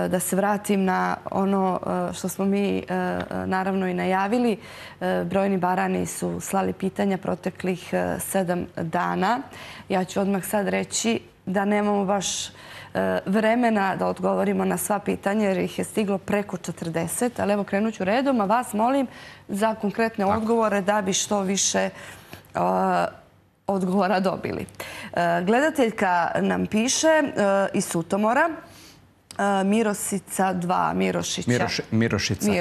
Da se vratim na ono što smo mi naravno i najavili. Brojni barani su slali pitanja proteklih 7 dana. Ja ću odmah sad reći da nemamo baš vremena da odgovorimo na sva pitanja jer ih je stiglo preko 40. Ali evo krenut ću redom, a vas molim za konkretne odgovore da bi što više odgovora dobili. Gledateljka nam piše iz Sutomora, Mirosica 2, Mirošića. Mirošica.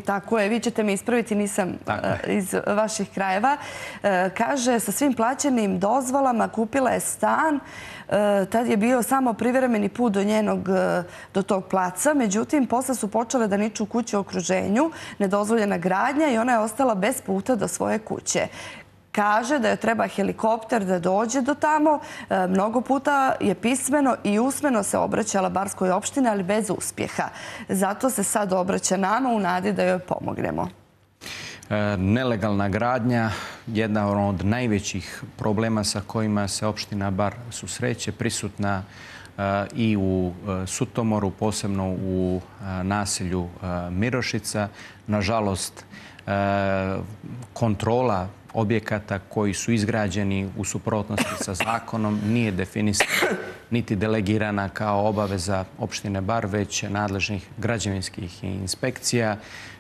Tako je, vi ćete me ispraviti, nisam iz vaših krajeva. Kaže, sa svim plaćenim dozvolama kupila je stan. Tad je bio samo privremeni put do tog placa. Međutim, posle su počele da niču kuće u okruženju, nedozvoljena gradnja i ona je ostala bez puta do svoje kuće. Kaže da joj treba helikopter da dođe do tamo. Mnogo puta je pismeno i usmeno se obraćala Barskoj opštini, ali bez uspjeha. Zato se sad obraća nama u nadi da joj pomognemo. Nelegalna gradnja, jedna od najvećih problema sa kojima se opština Bar susreće, prisutna i u Sutomoru, posebno u naselju Mirošica. Nažalost, kontrola objekata koji su izgrađeni u suprotnosti sa zakonom nije definisana niti delegirana kao obaveza opštine Bar, već nadležnih građevinskih inspekcija.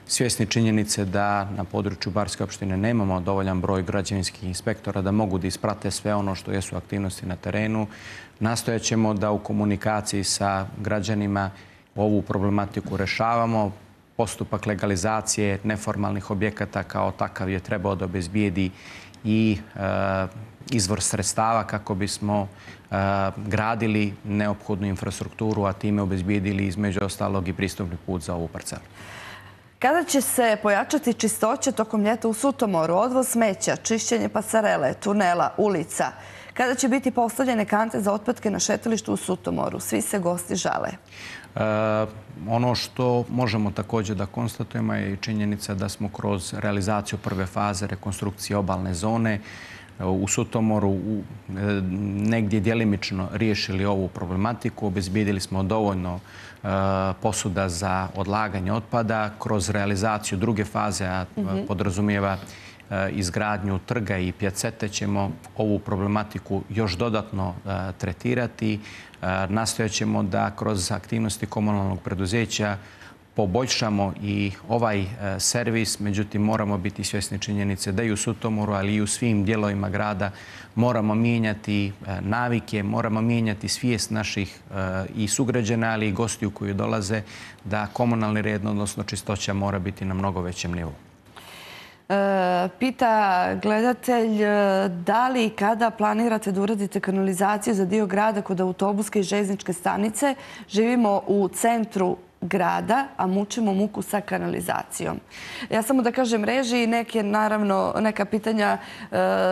Svjesni činjenice da na području Barske opštine nemamo dovoljan broj građevinskih inspektora da mogu da isprate sve ono što jesu aktivnosti na terenu, nastojat ćemo da u komunikaciji sa građanima ovu problematiku rešavamo. Postupak legalizacije neformalnih objekata kao takav je trebao da obezbijedi i izvor sredstava kako bismo gradili neophodnu infrastrukturu, a time obezbijedili između ostalog i pristupni put za ovu parcelu. Kada će se pojačati čistoća tokom ljeta u Sutomoru, odvoz smeća, čišćenje pasarele, tunela, ulica? Kada će biti postavljene kante za otpadke na šetalištu u Sutomoru? Svi se gosti žale. Ono što možemo također da konstatujemo je i činjenica da smo kroz realizaciju prve faze rekonstrukcije obalne zone u Sutomoru negdje djelimično riješili ovu problematiku. Obezbijedili smo dovoljno posuda za odlaganje otpada. Kroz realizaciju druge faze, a podrazumijeva izgradnju trga i pjacete, ćemo ovu problematiku još dodatno tretirati. Nastojat ćemo da kroz aktivnosti komunalnog preduzeća poboljšamo i ovaj servis, međutim moramo biti svjesni činjenice da i u Sutomoru, ali i u svim dijelovima grada moramo mijenjati navike, moramo mijenjati svijest naših i sugrađana, ali i gostiju koji dolaze, da komunalni red, odnosno čistoća, mora biti na mnogo većem nivou. Pita gledatelj, da li i kada planirate da uradite kanalizaciju za dio grada kod autobuske i željezničke stanice? Živimo u centru grada, a mučimo muku sa kanalizacijom. Ja samo da kažem režiji, neka pitanja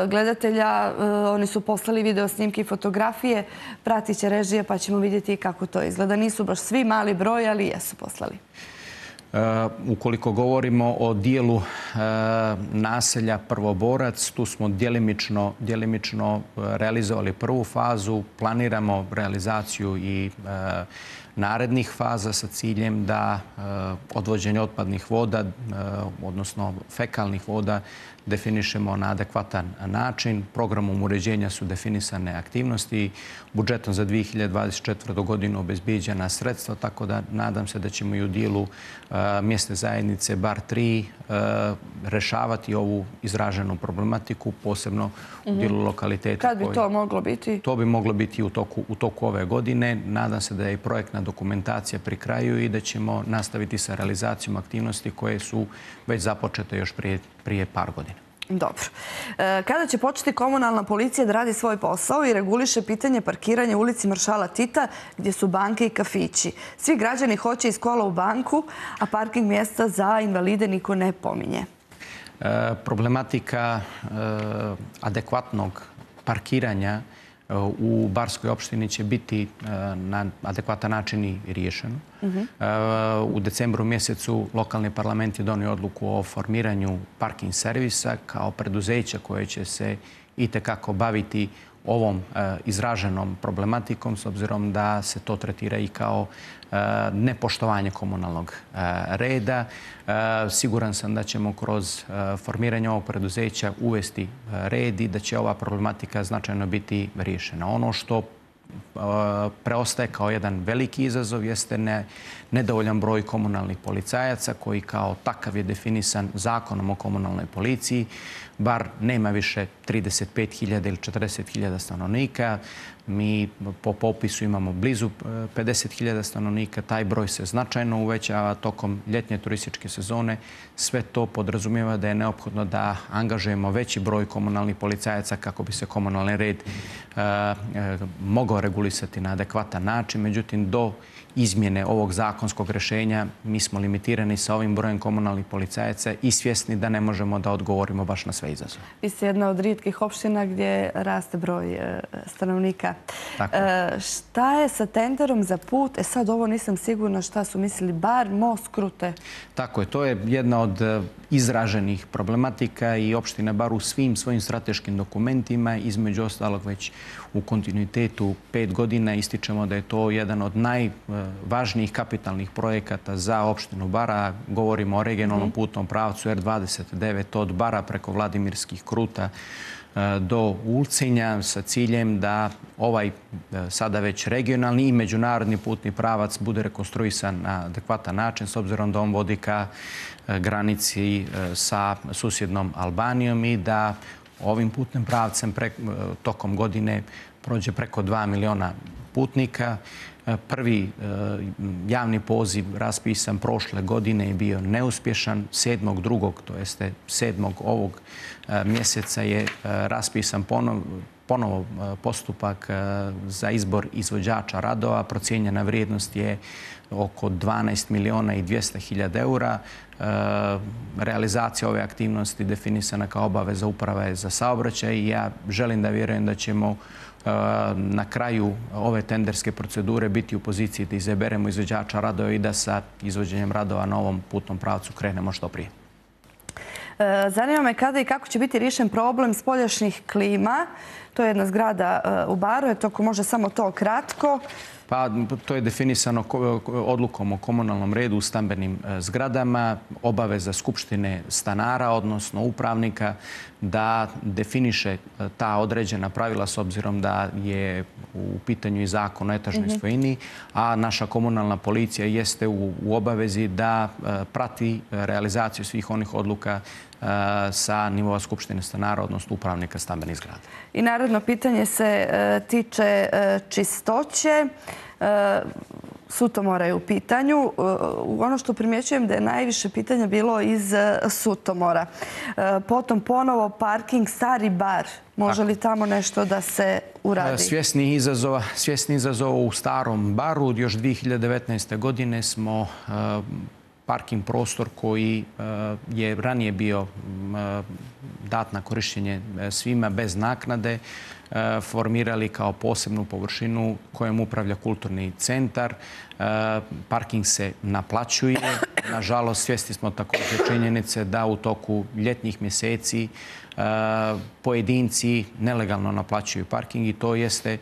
gledatelja, oni su poslali video snimke i fotografije, pratit će režije pa ćemo vidjeti kako to izgleda. Nisu baš svi mali broj, ali jesu poslali. Ukoliko govorimo o dijelu naselja Prvoborac, tu smo djelimično realizovali prvu fazu. Planiramo realizaciju i narednih faza sa ciljem da odvođenje otpadnih voda, odnosno fekalnih voda, definišemo na adekvatan način. Programom uređenja su definisane aktivnosti. Budžetom za 2024. godinu obezbijeđena sredstva, tako da nadam se da ćemo i u dijelu mjesne zajednice Bar 3 rešavati ovu izraženu problematiku, posebno u dijelu lokaliteta. Kad bi to moglo biti? To bi moglo biti u toku ove godine. Nadam se da je i projektna dokumentacija pri kraju i da ćemo nastaviti sa realizacijom aktivnosti koje su već započete još prije par godina. Dobro. Kada će početi komunalna policija da radi svoj posao i reguliše pitanje parkiranja u ulici Maršala Tita gdje su banke i kafići? Svi građani hoće iz kola u banku, a parking mjesta za invalide niko ne pominje. Problematika adekvatnog parkiranja u Barskoj opštini će biti na adekvatan način i riješeno. U decembru mjesecu lokalni parlament je donio odluku o formiranju parking servisa kao preduzeća koje će se itekako baviti ovom izraženom problematikom, s obzirom da se to tretira i kao nepoštovanje komunalnog reda. Siguran sam da ćemo kroz formiranje ovog preduzeća uvesti red i da će ova problematika značajno biti riješena. Ono što preostaje kao jedan veliki izazov jeste nedovoljan broj komunalnih policajaca koji kao takav je definisan zakonom o komunalnoj policiji. Bar nema više 35.000 ili 40.000 stanovnika. Mi po popisu imamo blizu 50.000 stanovnika. Taj broj se značajno uvećava tokom ljetnje turističke sezone. Sve to podrazumijeva da je neophodno da angažujemo veći broj komunalnih policajaca kako bi se komunalni red mogao regulisati na adekvatan način. Međutim, do izmjene ovog zakonskog rješenja mi smo limitirani sa ovim brojem komunalnih policajaca i svjesni da ne možemo da odgovorimo baš na sve izazove. Vi ste jedna od rijetkih opština gdje raste broj stanovnika. Šta je sa tenderom za put? Sad ovo nisam sigurna šta su mislili, Bar, most, Krute. Tako je, to je jedna od izraženih problematika i opština Bar u svim svojim strateškim dokumentima, između ostalog već u kontinuitetu 5 godina ističemo da je to jedan od najvažnijih kapitalnih projekata za opštinu Bara. Govorimo o regionalnom putnom pravcu R29 od Bara preko Vladimirskih Kruta do Ulcinja sa ciljem da ovaj sada već regionalni i međunarodni putni pravac bude rekonstruisan na adekvatan način, s obzirom da on vodi ka granici sa susjednom Albanijom i da ovim putnim pravcem tokom godine prođe preko 2 miliona putnika. Prvi javni poziv raspisan prošle godine je bio neuspješan. 7.2., to jeste 7. ovog mjeseca je raspisan ponovo postupak za izbor izvođača radova. Procijenjena vrijednost je oko 12 miliona i 200.000 eura. Realizacija ove aktivnosti definisana kao obaveza uprave za saobraćaj i ja želim da vjerujem da ćemo na kraju ove tenderske procedure biti u poziciji da izaberemo izvođača radova i da sa izvođenjem radova na ovom putnom pravcu krenemo što prije. Zanima me kada i kako će biti riješen problem spoljašnjih klima. To je jedna zgrada u Baru. Ako može samo to kratko. Pa to je definisano odlukom o komunalnom redu u stambenim zgradama. Obaveza Skupštine stanara, odnosno upravnika, da definiše ta određena pravila s obzirom da je u pitanju i zakon o etažnoj svojini, a naša komunalna policija jeste u obavezi da prati realizaciju svih onih odluka sa nivoa Skupštine stanara, odnosno upravnika stambenih zgrada. I naredno pitanje se tiče čistoće. Sutomora je u pitanju. Ono što primjećujem da je najviše pitanja bilo iz Sutomora. Potom ponovo parking Stari Bar. Može li tamo nešto da se uradi? Svjesni izazova u Starom Baru. Još 2019. godine smo parking prostor koji je ranije bio dat na korištenje svima bez naknade, formirali kao posebnu površinu kojom upravlja kulturni centar. Parking se naplaćuje. Nažalost, svjesni smo također činjenice da u toku ljetnih mjeseci pojedinci nelegalno naplaćuju parking i to jeste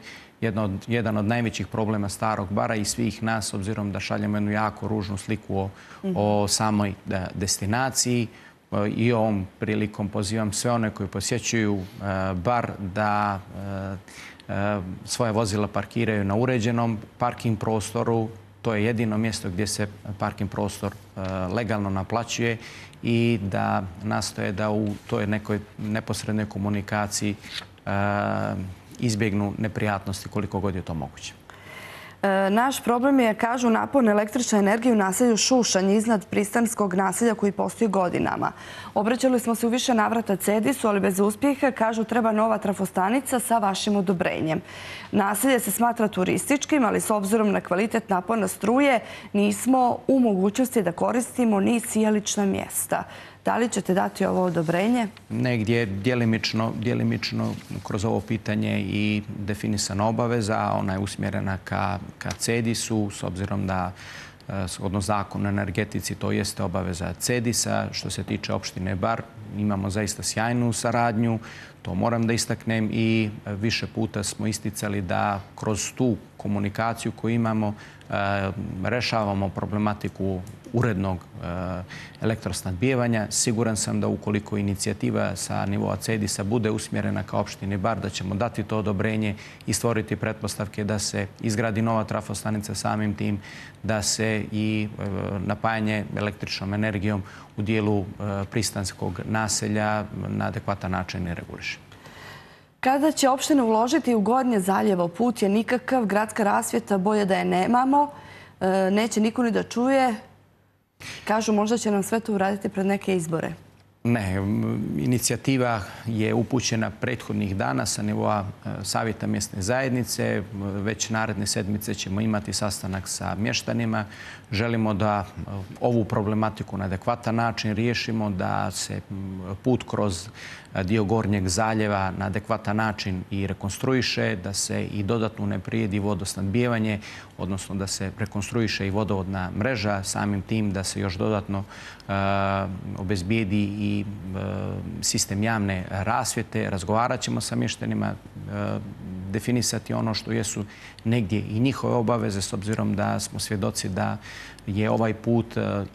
jedan od najvećih problema Starog Bara i svih nas, obzirom da šaljemo jednu jako ružnu sliku o samoj destinaciji. I ovom prilikom pozivam sve one koji posjećuju Bar da svoje vozila parkiraju na uređenom parking prostoru. To je jedino mjesto gdje se parking prostor legalno naplaćuje i da nastoje da u toj nekoj neposrednoj komunikaciji izbjegnu neprijatnosti koliko god je to moguće. Naš problem je, kažu, napon električne energije u naselju Šušanj iznad pristanskog naselja koji postoji godinama. Obraćali smo se u više navrata CEDIS-u, ali bez uspjeha. Kažu treba nova trafostanica sa vašim odobrenjem. Naselje se smatra turističkim, ali s obzirom na kvalitet napona struje nismo u mogućnosti da koristimo ni sijalična mjesta. Da li ćete dati ovo odobrenje? Negdje djelimično kroz ovo pitanje i definisana obaveza. Ona je usmjerena ka CEDIS-u s obzirom da odnosno zakon o energetici, to jeste obaveza CEDIS-a. Što se tiče opštine Bar, imamo zaista sjajnu saradnju, to moram da istaknem, i više puta smo isticali da kroz tu komunikaciju koju imamo rešavamo problematiku urednog elektrosnabdijevanja. Siguran sam da ukoliko inicijativa sa nivoa CEDIS-a bude usmjerena ka opštini Bar, da ćemo dati to odobrenje i stvoriti pretpostavke da se izgradi nova trafostanica, samim tim da se i napajanje električnom energijom u dijelu pristanskog naselja na adekvatan način i reguliše. Kada će opština uložiti u Gornje Zaljevo? Put je nikakav, gradska rasvjeta, bolje da je nemamo, neće niko ni da čuje. Kažu, možda će nam sve to uraditi pred neke izbore. Ne, inicijativa je upućena prethodnih dana sa nivoa Savjeta mjesne zajednice. Već naredne sedmice ćemo imati sastanak sa mještanima. Želimo da ovu problematiku na adekvatan način riješimo, da se put kroz dio Gornjeg Zaljeva na adekvatan način i rekonstruiše, da se i dodatno unaprijedi vodosnabdijevanje, odnosno da se rekonstruiše i vodovodna mreža, samim tim da se još dodatno obezbijedi i sistem javne rasvjete. Razgovarat ćemo sa mještanima, definisati ono što jesu negdje i njihove obaveze, s obzirom da smo svjedoci da je ovaj put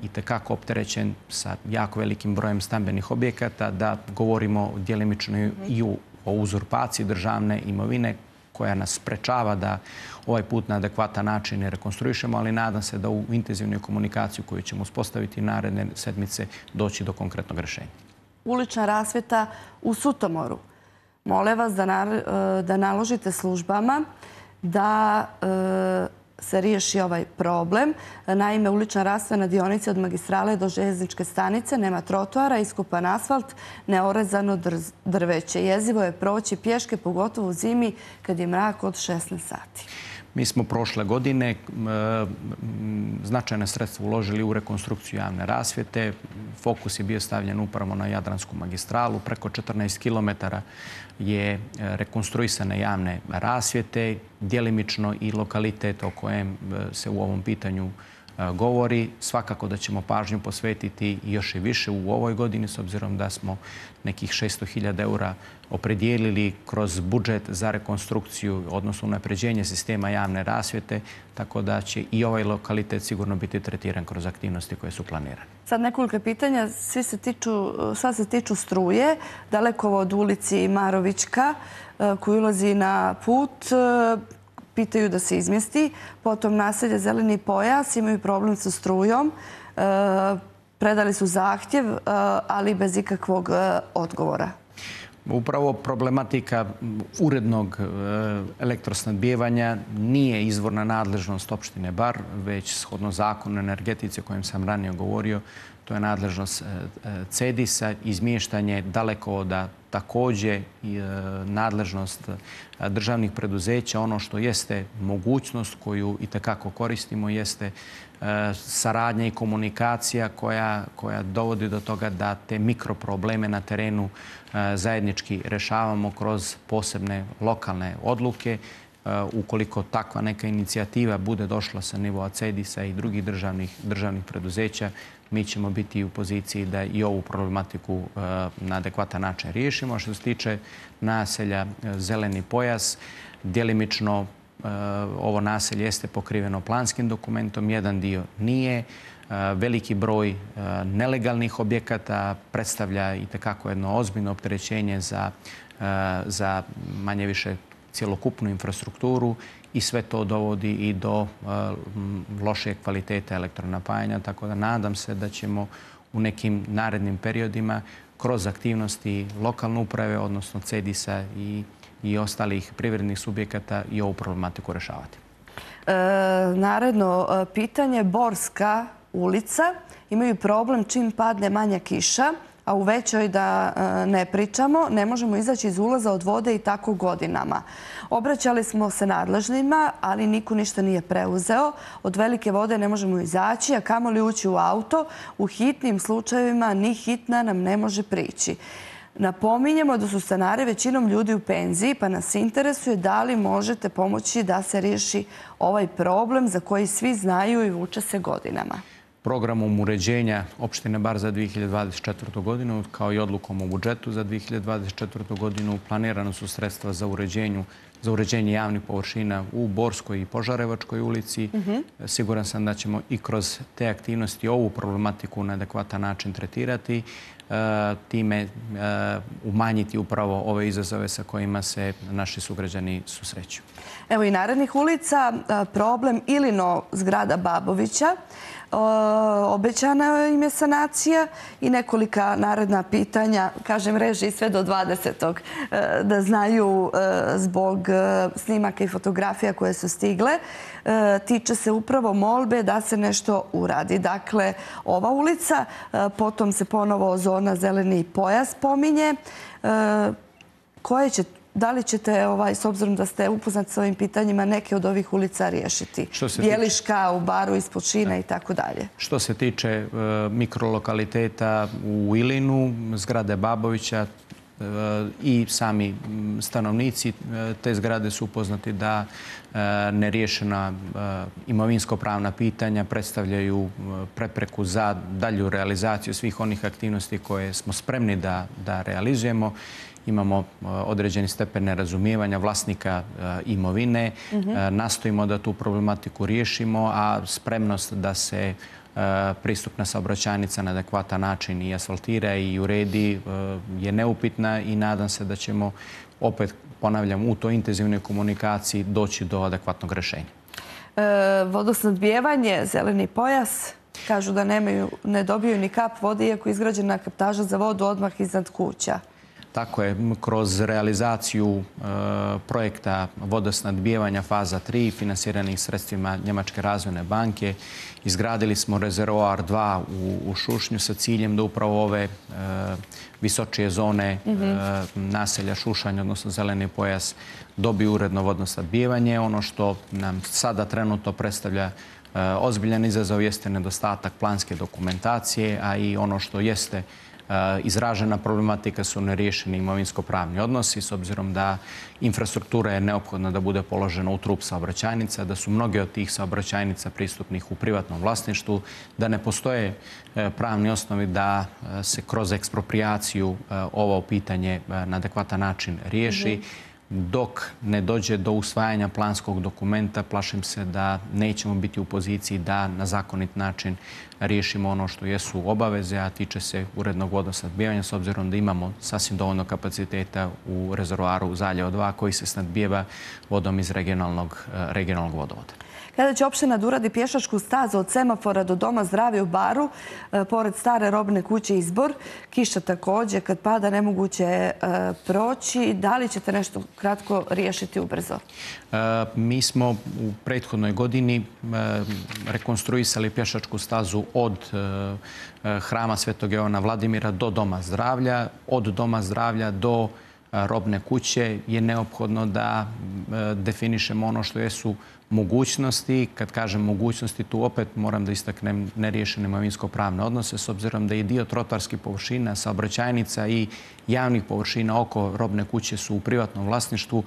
itekako opterećen sa jako velikim brojem stambenih objekata, da govorimo djelimično i o uzurpaciji državne imovine koja nas sprečava da ovaj put na adekvatan način rekonstruišemo, ali nadam se da u intenzivnoj komunikaciji koju ćemo uspostaviti naredne sedmice doći do konkretnog rješenja. Ulična rasvjeta u Sutomoru. Mole vas da naložite službama da se riješi ovaj problem. Naime, ulična rasvjeta na dionici od magistrale do željezničke stanice nema trotoara, iskopan asfalt, neorezano drveće. Jezivo je proći pješke, pogotovo u zimi kad je mrak od 16 sati. Mi smo prošle godine značajne sredstva uložili u rekonstrukciju javne rasvjete. Fokus je bio stavljen upravo na Jadransku magistralu. Preko 14 km je rekonstruisane javne rasvjete, djelimično i lokalitet o kojem se u ovom pitanju govori. Svakako da ćemo pažnju posvetiti još i više u ovoj godini, s obzirom da smo nekih 600.000 eura opredijelili kroz budžet za rekonstrukciju, odnosno unapređenje sistema javne rasvjete, tako da će i ovaj lokalitet sigurno biti tretiran kroz aktivnosti koje su planirane. Sad nekoliko pitanja, sva se tiču struje. Dalekovod ulici Marovićka koji ulazi na put, pitaju da se izmjesti. Potom naselje Zeleni pojas, imaju problem sa strujom. Predali su zahtjev, ali bez ikakvog odgovora. Upravo problematika urednog elektrosnabdijevanja nije izvorna nadležnost opštine Bar, već shodno zakonu o energetici o kojem sam ranije govorio, to je nadležnost CEDIS-a, izmještanje dalekovoda također nadležnost državnih preduzeća. Ono što jeste mogućnost koju itekako koristimo jeste saradnja i komunikacija koja dovodi do toga da te mikroprobleme na terenu zajednički rešavamo kroz posebne lokalne odluke. Ukoliko takva neka inicijativa bude došla sa nivoa CEDIS-a i drugih državnih preduzeća, mi ćemo biti u poziciji da i ovu problematiku na adekvatan način riješimo. Što se tiče naselja Zeleni pojas, djelimično ovo naselje jeste pokriveno planskim dokumentom, jedan dio nije. Veliki broj nelegalnih objekata predstavlja itekako jedno ozbiljno opterećenje za manje više cjelokupnu infrastrukturu i sve to dovodi i do lošeg kvaliteta elektronapajanja, tako da nadam se da ćemo u nekim narednim periodima kroz aktivnosti lokalne uprave, odnosno CEDIS-a i ostalih privrednih subjekata i ovu problematiku rešavati. Naredno pitanje, Borska ulica. Imaju problem čim padne manja kiša, a u većoj da ne pričamo, ne možemo izaći iz ulaza od vode i tako godinama. Obraćali smo se nadležnima, ali niko ništa nije preuzeo. Od velike vode ne možemo izaći, a kamoli ući u auto. U hitnim slučajevima ni hitna nam ne može prići. Napominjemo da su stanari većinom ljudi u penziji, pa nas interesuje da li možete pomoći da se riješi ovaj problem za koji svi znaju i vuče se godinama. Programom uređenja opštine Bar za 2024. godinu, kao i odlukom o budžetu za 2024. godinu, planirano su sredstva za uređenje javnih površina u Borskoj i Požarevačkoj ulici. Siguran sam da ćemo i kroz te aktivnosti ovu problematiku na adekvatan način tretirati, time umanjiti upravo ove izazove sa kojima se naši sugrađani susreću. Evo i narednih ulica, problem Ilino zgrada Babovića. Obećana im je sanacija i nekolika naredna pitanja, kažem reži sve do 20. da znaju zbog snimaka i fotografija koje su stigle. Tiče se upravo molbe da se nešto uradi. Dakle, ova ulica, potom se ponovo zona zeleni pojas pominje. Da li ćete, s obzirom da ste upoznati s ovim pitanjima, neke od ovih ulica riješiti? Bjeliška, u Baru, ispod Šina i tako dalje. Što se tiče mikrolokaliteta u Ilinu, zgrade Babovića i sami stanovnici te zgrade su upoznati da neriješena imovinsko-pravna pitanja predstavljaju prepreku za dalju realizaciju svih onih aktivnosti koje smo spremni da realizujemo. Imamo određeni stepen nerazumijevanja vlasnika imovine. Nastojimo da tu problematiku riješimo, a spremnost da se pristupna saobraćajnica na adekvatan način i asfaltira i uredi je neupitna i nadam se da ćemo, opet ponavljam, u toj intenzivnoj komunikaciji doći do adekvatnog rješenja. Vodosnabdijevanje, zeleni pojas, kažu da ne dobiju ni kap vode, iako je izgrađena kaptaža za vodu odmah iznad kuća. Tako je, kroz realizaciju projekta vodosnabdijevanja faza 3 finansiranih sredstvima Njemačke razvojne banke izgradili smo rezervoar 2 u Šušnju sa ciljem da upravo ove visočije zone naselja Šušanj, odnosno zeleni pojas, dobiju uredno vodosnabdijevanje. Ono što nam sada trenutno predstavlja ozbiljan izazov jeste nedostatak planske dokumentacije, a i ono što jeste izražena problematika su neriješeni imovinsko-pravni odnosi, s obzirom da infrastruktura je neophodna da bude položena u trup saobraćajnica, da su mnoge od tih saobraćajnica pristupnih u privatnom vlasništvu, da ne postoje pravni osnovi da se kroz eksproprijaciju ovo pitanje na adekvatan način riješi. Dok ne dođe do usvajanja planskog dokumenta, plašim se da nećemo biti u poziciji da na zakonit način riješimo ono što jesu obaveze, a tiče se urednog vodosnabdijevanja, s obzirom da imamo sasvim dovoljno kapaciteta u rezervoaru Zaljevo 2 koji se snabdijeva vodom iz regionalnog vodovoda. Kada će opština da uradi pješačku stazu od semafora do Doma zdravlja u Baru, pored stare robne kuće Izbor, kiša također, kad pada nemoguće je proći. Da li ćete nešto kratko riješiti ubrzo? Mi smo u prethodnoj godini rekonstruisali pješačku stazu od Hrama Svetog Jovana Vladimira do Doma zdravlja. Od Doma zdravlja do robne kuće je neophodno da definišemo ono što jesu mogućnosti. Kad kažem mogućnosti, tu opet moram da istaknem neriješene imovinsko-pravne odnose, s obzirom da i dio trotoarskih površina, saobraćajnica i javnih površina oko robne kuće su u privatnom vlasništvu.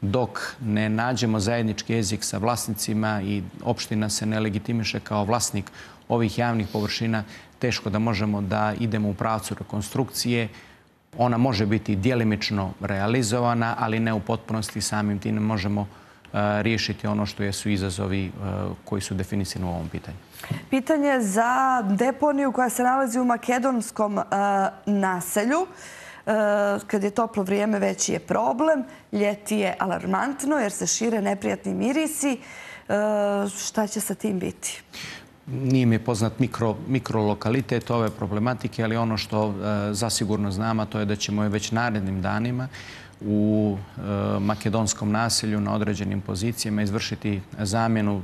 Dok ne nađemo zajednički jezik sa vlasnicima i opština se ne legitimiše kao vlasnik ovih javnih površina, teško da možemo da idemo u pravcu rekonstrukcije. Ona može biti djelimično realizovana, ali ne u potpunosti. Samim tim ne možemo riješiti ono što jesu izazovi koji su definisani u ovom pitanju. Pitanje za deponiju koja se nalazi u makedonskom naselju. Kad je toplo vrijeme veći je problem, ljeti je alarmantno jer se šire neprijatni mirisi. Šta će sa tim biti? Nije mi je poznat mikrolokalitet ove problematike, ali ono što zasigurno znam, a to je da ćemo već narednim danima u makedonskom naselju na određenim pozicijama izvršiti zamjenu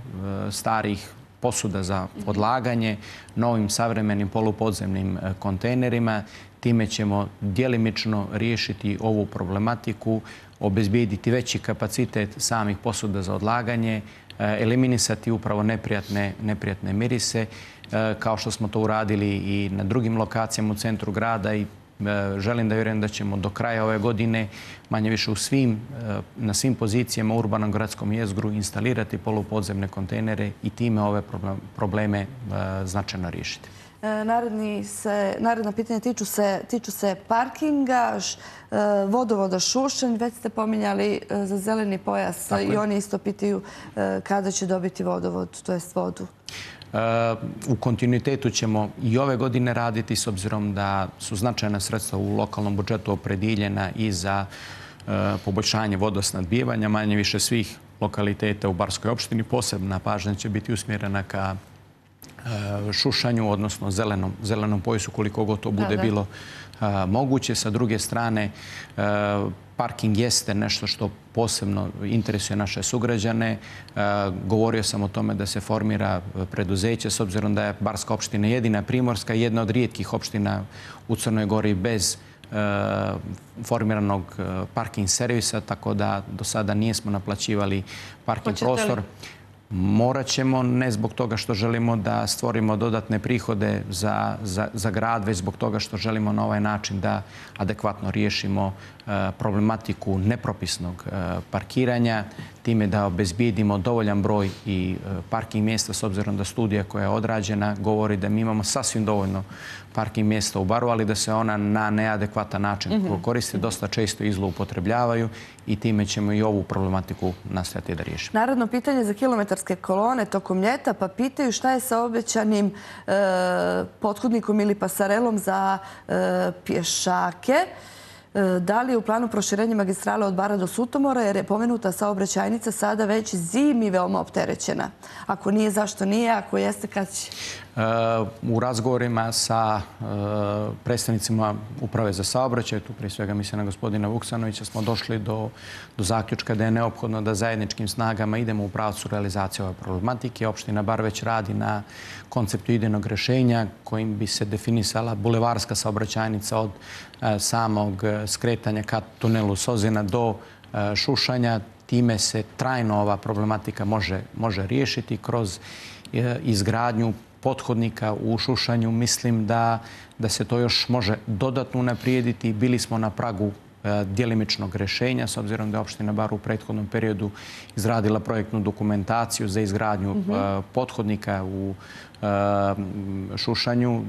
starih posuda za odlaganje novim savremenim polupodzemnim kontejnerima. Time ćemo djelimično riješiti ovu problematiku, obezbijediti veći kapacitet samih posuda za odlaganje, eliminisati upravo neprijatne mirise, kao što smo to uradili i na drugim lokacijama u centru grada i želim da vjerujem da ćemo do kraja ove godine manje više na svim pozicijama u urbanom gradskom jezgru instalirati polupodzemne kontejnere i time ove probleme značajno riješiti. Naredna pitanja tiču se parkinga, vodovoda Šušanj. Već ste pominjali za zeleni pojas i oni isto pitaju kada će dobiti vodovod, to jest vodu. U kontinuitetu ćemo i ove godine raditi s obzirom da su značajna sredstva u lokalnom budžetu opredjeljena i za poboljšanje vodosnabdijevanja manje više svih lokaliteta u Barskoj opštini. Posebna pažnja će biti usmjerena ka Šušanju, odnosno zelenom pojasu koliko god to bude bilo moguće. Sa druge strane, parking jeste nešto što posebno interesuje naše sugrađane. Govorio sam o tome da se formira preduzeće s obzirom da je Barska opština jedina primorska i jedna od rijetkih opština u Crnoj Gori bez formiranog parking servisa, tako da do sada nismo naplaćivali parking prostor. Morat ćemo, ne zbog toga što želimo da stvorimo dodatne prihode za grad, već zbog toga što želimo na ovaj način da adekvatno riješimo problematiku nepropisnog parkiranja, time da obezbijedimo dovoljan broj i parking mjesta, s obzirom da studija koja je odrađena govori da mi imamo sasvim dovoljno parking mjesta u Baru, ali da se ona na neadekvatan način koriste, dosta često i zloupotrebljavaju i time ćemo i ovu problematiku nastojati da riješimo. Naravno, pitanje za kilometarske kolone tokom ljeta, pa pitaju šta je sa obećanim pothodnikom ili pasarelom za pješake. Da li je u planu proširenje magistrale od Bara do Sutomora, jer je pomenuta saobraćajnica sada već zimi veoma opterećena? Ako nije, zašto nije? Ako jeste, kad će? U razgovorima sa predstavnicima Uprave za saobraćaj, tu prije svega mislim na gospodina Vuksanovića, smo došli do zaključka da je neophodno da zajedničkim snagama idemo u pravcu realizacije ove problematike. Opština Bar već radi na konceptu idejnog rješenja kojim bi se definisala bulevarska saobraćajnica od samog skretanja ka tunelu Sozina do Šušanja. Time se trajno ova problematika može riješiti kroz izgradnju pothodnika u Šušanju. Mislim da se to još može dodatno unaprijediti. Bili smo na pragu djelimičnog rješenja, s obzirom da je opština Bar u prethodnom periodu izradila projektnu dokumentaciju za izgradnju pothodnika u Šušanju.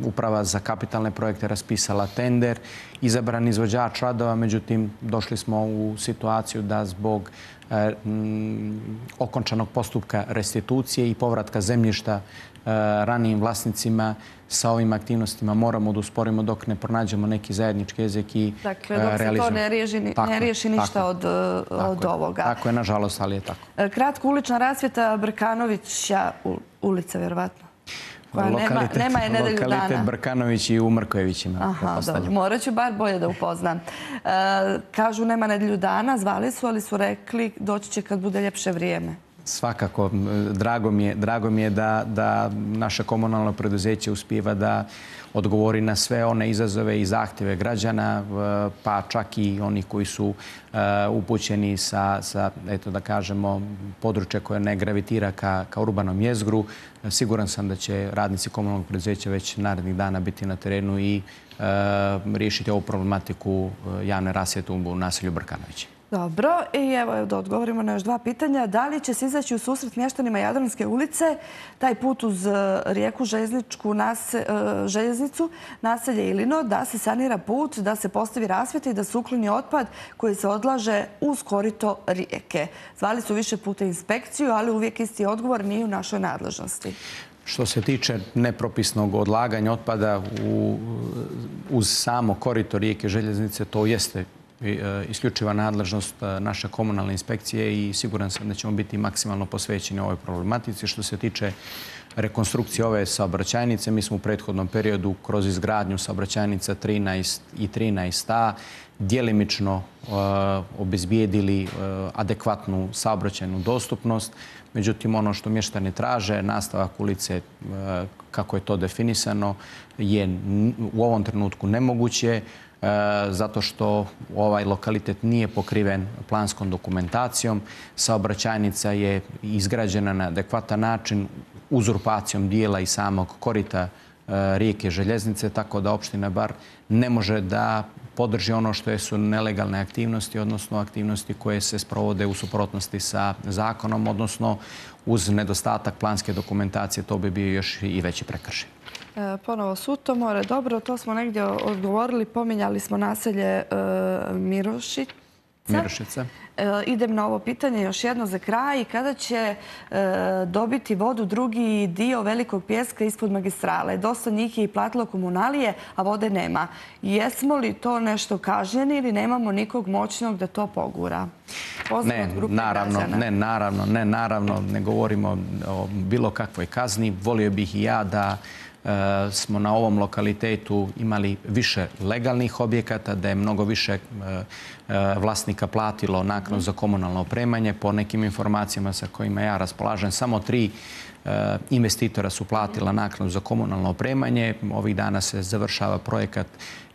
Uprava za kapitalne projekte raspisala tender, izabran izvođač radova, međutim došli smo u situaciju da zbog okončanog postupka restitucije i povratka zemljišta ranijim vlasnicima sa ovim aktivnostima moramo da usporimo dok ne pronađemo neki zajednički jezik i realizujemo. Dakle, dok se to ne riješi ništa od ovoga. Tako je, nažalost, ali je tako. Kratko, ulična rasvjeta Brkanovića ulica, vjerovatno. Nema je nedelju dana. Lokalitet Brkanović i u Mrkojevićima. Aha, dobro. Morat ću bar bolje da upoznam. Kažu nema nedelju dana, zvali su, ali su rekli doći će kad bude ljepše vrijeme. Svakako, drago mi je da naše komunalno preduzeće uspijeva da odgovori na sve one izazove i zahtjeve građana, pa čak i oni koji su upućeni sa, eto da kažemo, područja koje ne gravitira ka urbanom jezgru. Siguran sam da će radnici komunalnog preduzeća već narednih dana biti na terenu i riješiti ovu problematiku javne rasvjete u naselju Brkanovića. Dobro, i evo da odgovorimo na još dva pitanja. Da li će se izaći u susret mještanima Jadranske ulice, taj put uz rijeku željeznicu, naselje Ilino, da se sanira put, da se postavi rasvjeta i da se ukloni otpad koji se odlaže uz korito rijeke? Zvali su više puta inspekciju, ali uvijek isti odgovor nije u našoj nadležnosti. Što se tiče nepropisnog odlaganja otpada uz samo korito rijeke željeznice, to jeste isključiva nadležnost naše komunalne inspekcije i siguran sam da ćemo biti maksimalno posvećeni ovoj problematici. Što se tiče rekonstrukcije ove saobraćajnice, mi smo u prethodnom periodu kroz izgradnju saobraćajnica 13 i 13a djelimično obezbijedili adekvatnu saobraćajnu dostupnost. Međutim, ono što mještani traže, nastavak ulice, kako je to definisano, je u ovom trenutku nemoguće, zato što ovaj lokalitet nije pokriven planskom dokumentacijom. Saobraćajnica je izgrađena na adekvatan način uzurpacijom dijela i samog korita Rijeke željeznice, tako da opština bar ne može da podrži ono što su nelegalne aktivnosti, odnosno aktivnosti koje se sprovode u suprotnosti sa zakonom, odnosno uz nedostatak planske dokumentacije, to bi bio još i veći prekršaj. Ponovo Sutomore. Dobro, to smo negdje odgovorili. Pominjali smo naselje Mirošica. Idem na ovo pitanje još jedno za kraj. Kada će dobiti vodu drugi dio Velikog Pijeska ispod magistrale? Dosta njih je i platilo komunalije, a vode nema. Jesmo li to nešto kažnjeni ili nemamo nikog moćnog da to pogura? Ne, naravno, ne govorimo o bilo kakvoj kazni. Volio bih i ja da smo na ovom lokalitetu imali više legalnih objekata, da je mnogo više vlasnika platilo naknadu za komunalno opremanje. Po nekim informacijama sa kojima ja raspolažem, samo 3 investitora su platila naknadu za komunalno opremanje. Ovih dana se završava projekat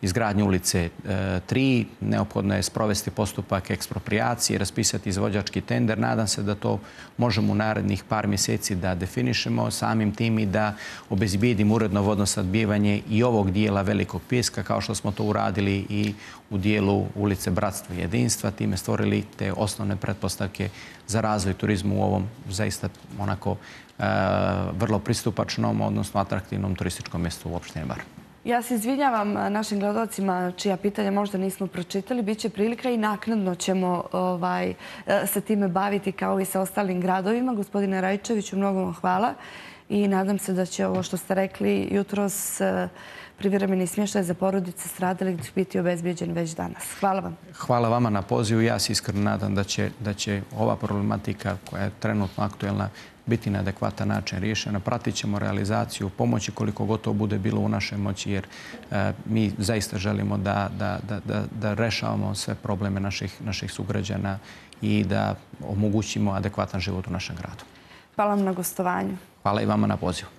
izgradnje ulice 3. Neophodno je sprovesti postupak eksproprijacije, raspisati izvođački tender. Nadam se da to možemo u narednih par mjeseci da definišemo, samim tim i da obezbijedimo uredno vodosnabdijevanje i ovog dijela Velikog Pijeska, kao što smo to uradili i u dijelu ulice Bratstva i jedinstva. Time stvorili te osnovne pretpostavke za razvoj turizma u ovom zaista onako vrlo pristupačnom, odnosno atraktivnom turističkom mjestu u opštini Bar. Ja se izvinjavam našim gledalcima čija pitanja možda nismo pročitali. Biće prilika i naknadno ćemo se time baviti kao i sa ostalim gradovima. Gospodine Rajčeviću, mnogo vam hvala i nadam se da će ovo što ste rekli jutros privremeni smještaj za porodice stradalih biti obezbijeđen već danas. Hvala vam. Hvala vama na pozivu. Ja se iskreno nadam da će ova problematika koja je trenutno aktuelna biti na adekvatan način riješena. Pratit ćemo realizaciju pomoći koliko god to bude bilo u našoj moći, jer mi zaista želimo da rešavamo sve probleme naših sugrađana i da omogućimo adekvatan život u našem gradu. Hvala vam na gostovanju. Hvala i vama na pozivu.